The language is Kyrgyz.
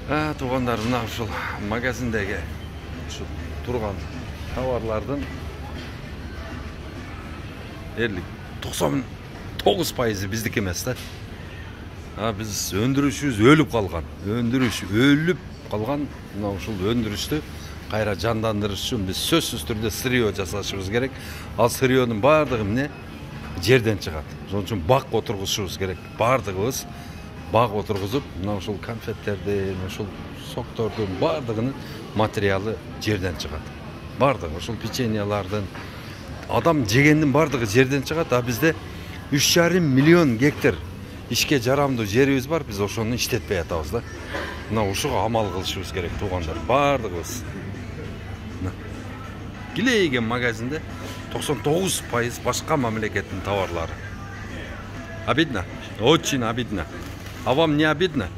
Туугандар, мына ушул магазиндеги ушу турган товарлардын дерлик 99% биздики эмес да. Биз өндүрүшүбүз өлүп калган. Мына ушул өндүрүштү кайра жандандырыш үчүн биз сөзсүз түрдө сырье жасашыбыз керек. Ал сырьенин баардыгы эмне? Жерден чыгат. Ошон үчүн бак отургузушубуз керек. Баардыгыбыз бак отургузуп, мына ушул конфеттердин, ушул соктордун баардыгынын материалы жерден чыгат. Баардыгы ушул печеньялардын, адам жегендин баардыгы жерден чыгат. Бизде 3,5 миллион гектар ишке жарамдуу жерибиз бар. Биз ошону иштетпей атабыз да. Мына ушуга амал кылышыбыз керек, туугандар. Баардыгыбыз. Килейген магазинде 99% башка мамлекеттин товарлары. Обидно? Очень обидно. А вам не обидно?